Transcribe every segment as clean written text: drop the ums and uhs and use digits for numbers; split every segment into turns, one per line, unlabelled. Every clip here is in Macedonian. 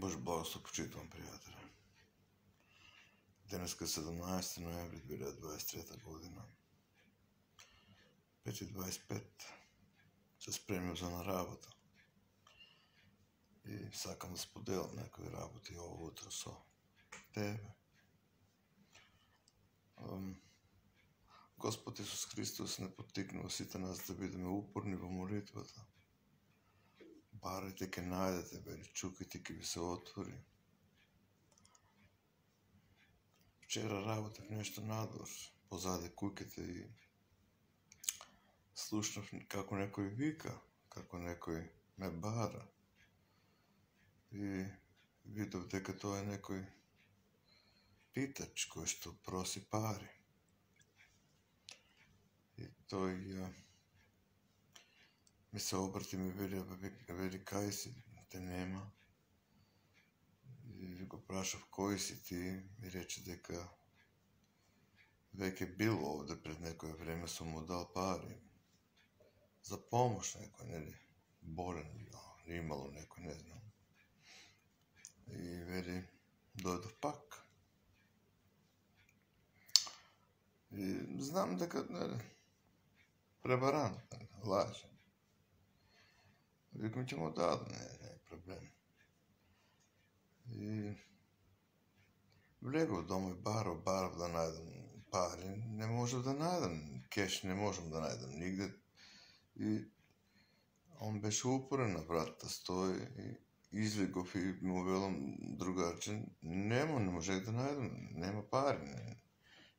Бож благослов почитувам, пријатели. Денеска 17. ноември 2023 година. 5:25 се спремив за на работа. И сакам да споделам некои работи ово утро со тебе. Господ Исус Христос не поттикнува сите нас да бидеме упорни во молитвата. Барајте, ке најдете, вели, чукајте, ке ви се отвори. Вчера работев нешто надвор, позаде куќите и слушнав како некој вика, како некој ме бара. И видов дека тоа е некој питач кој што проси пари. И тој ми се обрати, ми вели кај си, те нема. И го прашав кој си ти, ми рече дека веќе бил овде пред некој време, сум му дал пари. За помош некој, нели, болен, имало некој, не знам. И вели, дојдов пак. И знам дека, нели, пребаран, лаже. Викам, ќе му дадам, не е проблем. И влегов дома и барав да најдам пари, не можев да најдам, кеш не можам да најдам нигде. И он беше упорен на вратата, стои и излегов и му велам, другарче, не можех да најдам, нема пари,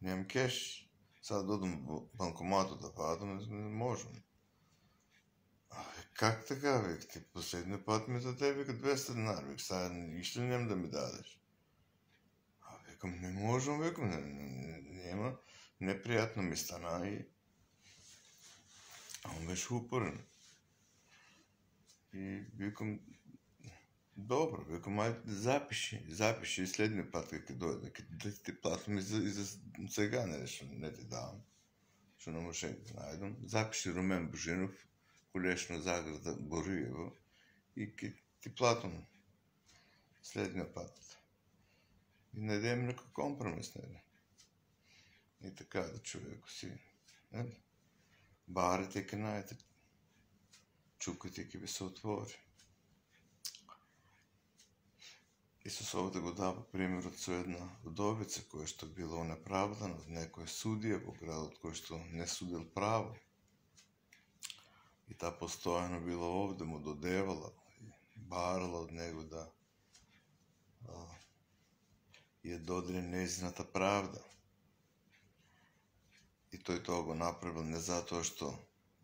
немам кеш. Сега додам во банкоматот да вадам, не можам. Как така, век, ти последниот пат ми даде, века, 200 динар, век, сега ништо нема да ми дадеш. Викам, не можам, викам, нема, непријатно ми стана и он беше упорен. И викам, добро, викам, ајде, запиши следниот пат кога ќе дојде, да ти платам и за сега, не ти давам, што не можех да најдам. Запиши Румен Божинов, Колешна Заграда, Бориево, и ќе ти платам следниот пат. И најдем некој компромис, нели? И така да човеко си, нели? Барите ке најдете, чукајте ке ви се отвори. Исус овде го дава примерот со една вдовица која што била онеправдана од некој судија во градот кој што не судил право. И таа постојано била овде, му додевала и барала од него да ја додели нејзината правда. И тој тоа го направил не затоа што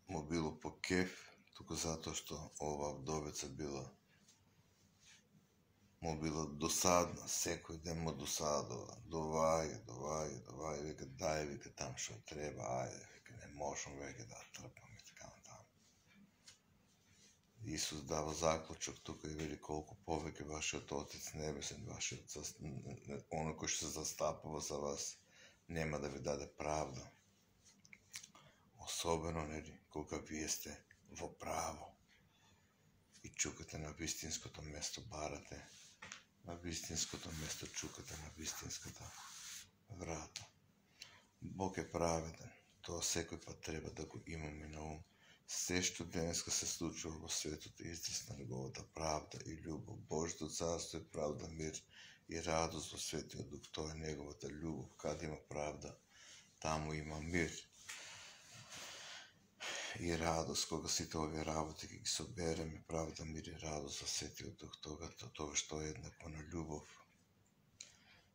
му било по кеф, туку затоа што оваа вдовица му била досадна, секој ден му досадува, доваѓа, века, дај, века, там што треба, ајде, века, не можам веќе да трпам и така натаму. Исус дава заклучок тука и вели колку повеќе вашиот Отец Небесен, оној кој што се застапува за вас, нема да ви даде правда. Особено, нели, кога вие сте во право и чукате на вистинското место, барате на вистинското место, чукате на вистинската врата. Бог е праведен, тоа секој пат треба да го имаме на ум. Се што денеска се случува во светот е израз на неговата правда и љубов. Божјото царство е правда, мир и радост во Светиот Дух. Тоа е неговата љубов. Каде има правда, таму има мир и радост. Кога сите овие работи ги собереме, правда, мир и радост во Светиот Дух, тоа што е еднакво на љубов.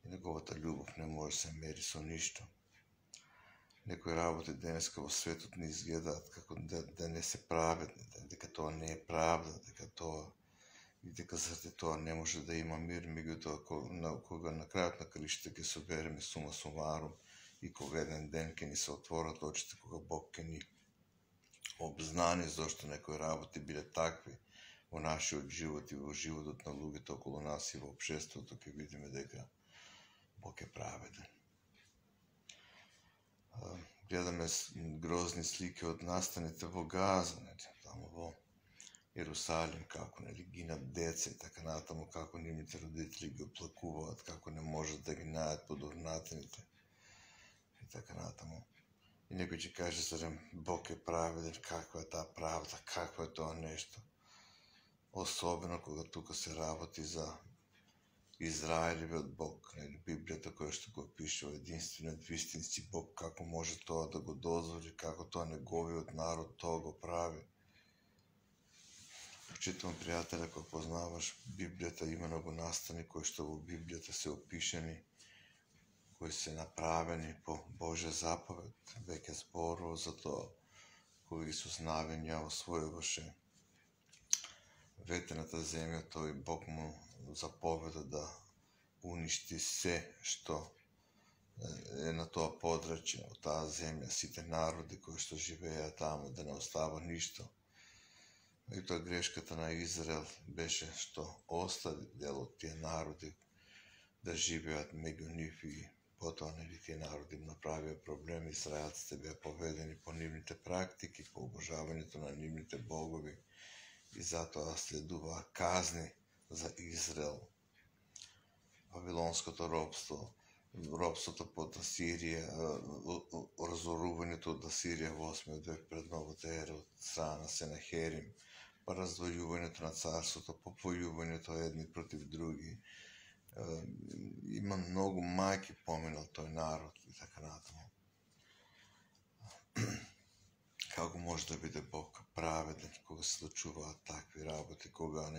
И неговата љубов не може се мери со ништо. Некои работи денеска во светот не изгледаат како да не се праведни, дека тоа не е правда, дека заради тоа не може да има мир, меѓутоа кога на крајот на краиштата ќе собереме сума сумарум и кога еден ден ќе ни се отворат очите, кога Бог ќе ни обзнани зошто некои работи биле такви во нашиот живот и во животот на луѓето околу нас и во општеството, ќе видиме дека Бог е праведен. Гледаме грозни слики од настаните во Газа, таму во Ерусалим, како гинат деца и така натаму, како нивните родители ги оплакуваат, како не можат да ги најдат подурнатените и така натаму. И некој ќе каже, зарем Бог е праведен, каква е таа правда, какво е тоа нешто. Особено кога тука се работи за Израелевиот Бог, Библијата која што го пишува единствениот вистински Бог, како може тоа да го дозволи, како тоа неговиот народ тоа го прави. Почитувам пријателя, кој познаваш Библијата, има многу настани кои што во Библијата се опишени, кои се направени по Божја заповед, веќе зборува за тоа, кој Исус навења освојуваше ветената земја, тој Бог му заповеда да уништи се што е на тоа подрачје, од таа земја, сите народи кои што живееа таму, да не остава ништо. И тоа грешката на Израел беше што остави дел од тие народи да живеат меѓу нив и потоа тие народи направија проблеми, израелците беа поведени по нивните практики, по обожавањето на нивните богови и затоа следуваа казни за Израел. Вавилонското робство, робството под Асирија, разорувањето од Асирија во 8 век пред новата ера од страна на Сенахерим, па раздвојувањето на царството, попојувањето едни против други. Има многу мајки поминал тој народ и така натаму. Како може да биде Бог праведен кога се случуваат такви работи, кога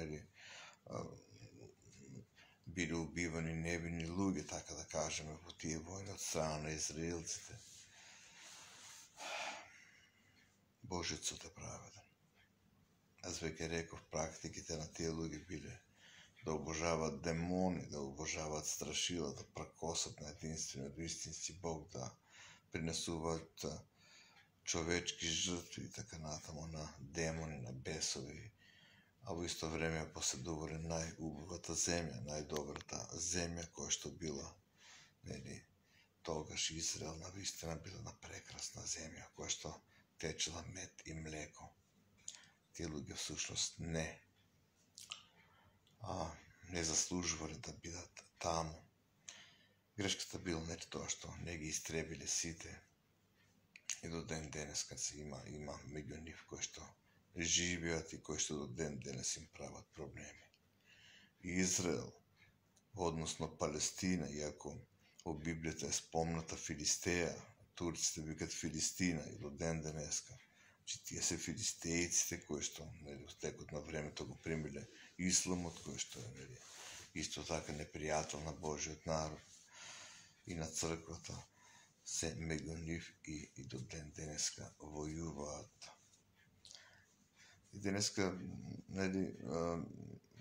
биле убивани невини луѓе, така да кажеме, во тие војни од страна на израелците. Божјиот суд е праведен. Аз веќе реков, практиките на тие луѓе биле да обожаваат демони, да обожаваат страшила, да пракосат на единствениот вистински Бог, да принесуваат човечки жртви и така натаму на демони, на бесови, а во исто време поседувале најубавата земја, најдобрата земја која што била, тогаш Израел навистина била на прекрасна земја, која што течела мед и млеко. Тие луѓе всушност не заслужувале да бидат таму. Грешката била не тоа што не ги истребиле сите и до ден денес кад се има меѓу нив кои што живеат и кои што до ден денес им прават проблеми. Израел, односно Палестина, иако во Библијата е спомната Филистеја, турците викат Филистина и до ден денеска, тие се филистејците кои што во текот на времето го примиле исламот, кој што е исто така непријател на Божиот народ и на црквата, се меѓу нив и до ден денеска војуваат. И денеска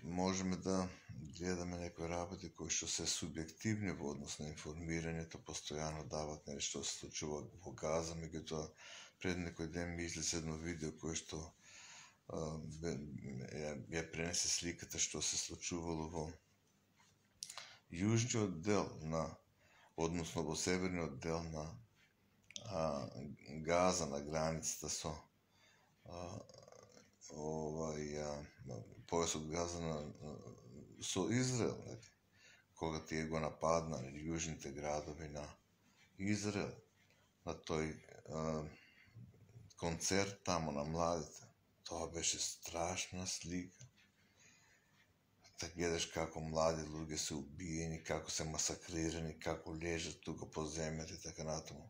можеме да гледаме некои работи кои што се субјективни во однос на информирањето, постојано дават што се случува во Газа, меѓутоа пред некој ден ми излезе едно видео кое што ја пренесе сликата што се случувало во јужниот дел односно во северниот дел на Газа, на границата со појасот Газа со Израел, кога тие го нападнале јужните градови на Израел, на тој концерт таму на младите. Тоа беше страшна слика. Да гледаш како млади луѓе се убиени, како се масакрирани, како лежат тука по земјата и така натаму.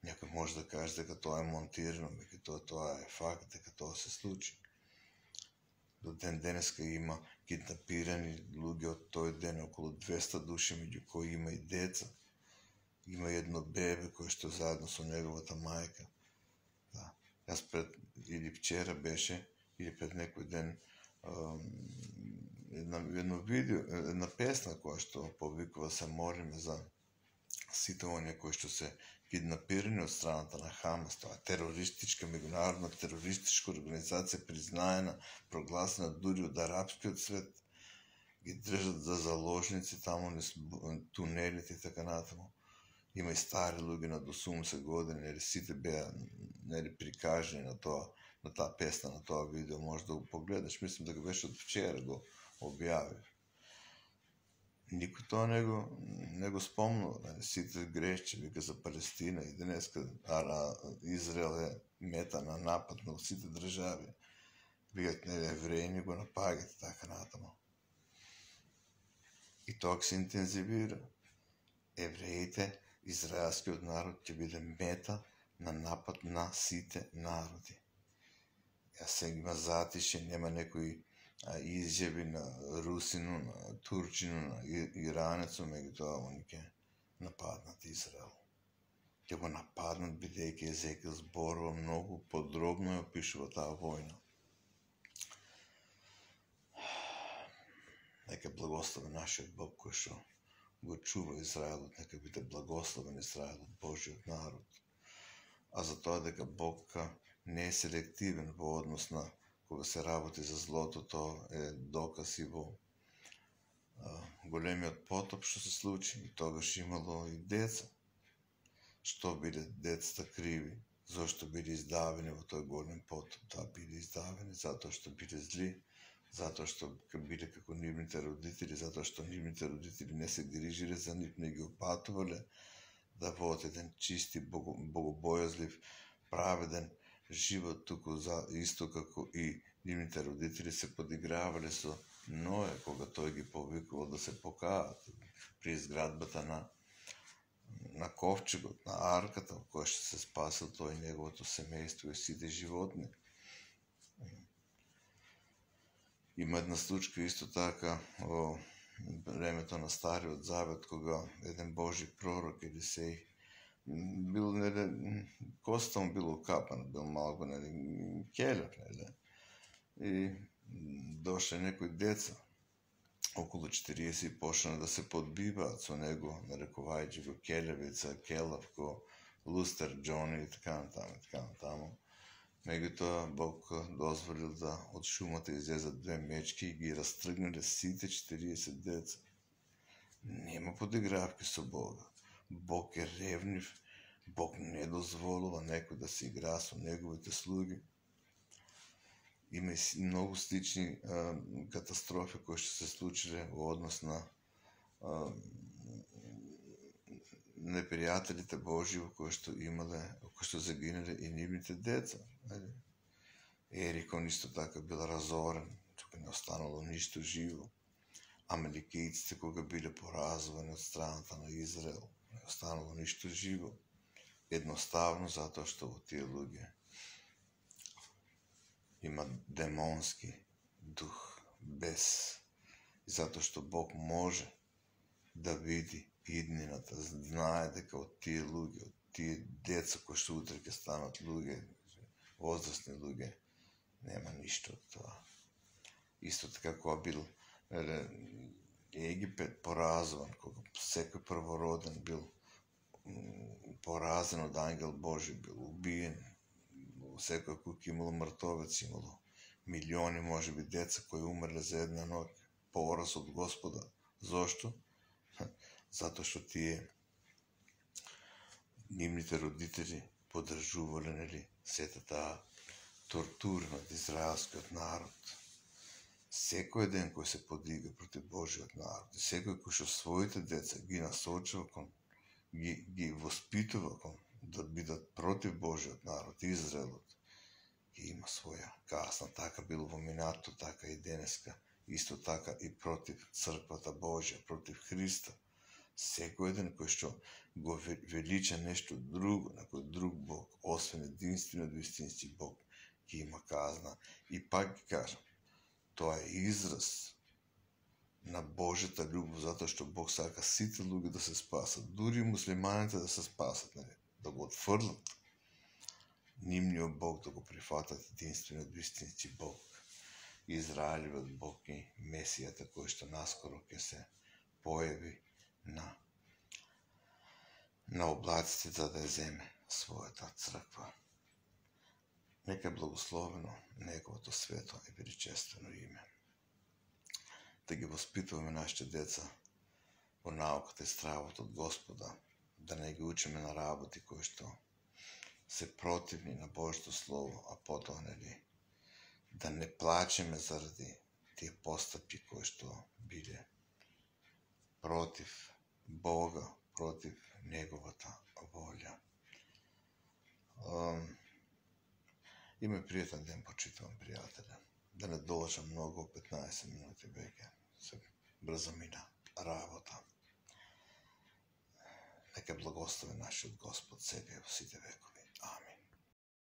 Некој може да каже дека тоа е монтирано, меѓутоа тоа е факт дека тоа се случи. До ден денеска има киднапирани луѓе од тој ден, околу 200 души, меѓу кои има и деца. Има едно бебе кој што заедно со неговата мајка. Јас или вчера беше, или пред некој ден, едно видео, една песна која што повикува се молиме за сите оние кои што се киднапирани од страната на Хамас. Тоа е терористичка, меѓународна терористичка организација, признаена, прогласена дури од арапскиот свет. Ги држат за заложници таму низ тунелите и така натаму. Има и стари луѓе на до 80 години, сите беа прикажани на на таа песна, на тоа видео, може да го погледаш, мислам дека беше од вчера го објавив. Никој тоа не го спомнува, сите грешчи, вика за Палестина и денеска Израел е мета на напад на сите држави. Викат, евреи го напагат така натаму. И тоа се интензивира. Евреите, израелскиот народ ќе биде мета на напад на сите народи. Сега има затише, нема некои изјави на русину, на турчину, на иранецу, меѓутоа они ќе нападнат Израел. Ќе го нападнат, бидејќи Езекил зборува многу подробно и опишува таа војна. Нека благослови нашиот Бог кој што го чува Израелот, нека биде благословен Израелот, Божиот народ. А за тоа дека Бог не е селективен во однос на кога се работи за злото, тоа е доказ и во големиот потоп што се случи, и тогаш имало и деца. Што биле децата криви? Зошто биле издавени во тој голем потоп? Таа биле издавени затоа што биле зли, затоа што биле како нивните родители, затоа што нивните родители не се грижиле за нив, не ги опатувале да водат еден чисти, богобојазлив, праведен живот, туку исто како и нивните родители се подигравале со Ное, кога тој ги повикувал да се покаат при изградбата на ковчегот, на арката, во која што се спасил тој и неговото семејство и сите животни. Има една случка исто така во времето на Стариот Завет, кога еден Божи пророк Елисеј бил, коста му било капан, бил малку, келев, и дошле некои деца, околу 40, и почна да се подбиваат со него, нарекувајќи го келевица, келавко, лустер Џони и така натаму. Меѓутоа Бог дозволил да од шумата излезат две мечки и ги растргнале сите 40 деца. Нема подигравки со Бога. Бог е ревнив, Бог не дозволува некој да се игра со неговите слуги. Има и многу слични катастрофи кои што се случиле во однос на непријателите Божи, кои што имале, кои што загинале и нивните деца. Ерикон исто така бил разорен, тука не останало ништо живо. Амеликијците кога биле поразувани од страната на Израел, не останало ништо живо. Едноставно затоа што во тие луѓе има демонски дух, бес. И затоа што Бог може да види иднината, знае дека од тие луѓе, од тие деца кои што утре ќе станат луѓе, возрастни луѓе, нема ништо од тоа. Исто така кога бил Египет поразуван, кога секој првороден бил поразен од ангел Божи, бил убиен, во секој куќа имало мртовец, имало милиони, можеби, деца кои умрле за една ноќ, пораз од Господа. Зошто? Затоа што тие нивните родители поддржувале сета таа тортура над израелскиот народ. Секој ден кој се подига против Божиот народ, секој кој што своите деца ги насочува кон, ги воспитува кон да бидат против Божиот народ, Израелот, ќе има своја казна. Така било во минато, така и денеска. Исто така и против црквата Божја, против Христа. Секој ден кој што го велича нешто друго, некој друг Бог, освен единствено вистински Бог, ќе има казна. И пак ги кажам, тоа е израз на Божјата љубов, затоа што Бог сака сите луѓе да се спасат, дури муслиманите да се спасат, да го отфрлат нивниот Бог, да го прифатат единствено вистински Бог, Израелевиот Бог и Месијата кој што наскоро ќе се појави на облаците за да ја земе својата црква. Нека е благословено неговото свето и величествено име. Да ги воспитуваме нашите деца во науката и стравот од Господа, да не ги учиме на работи кои што се противни на Божјото Слово, а потоа, нели, да не плачеме заради тие постапки кои што биле против Бога, против Неговата волја. Има пријатен ден, почитувам пријателя. Да не должам многу, 15 минути веќе. Се брзо мина работа. Нека благослови нашиот Господ себе во сите векови.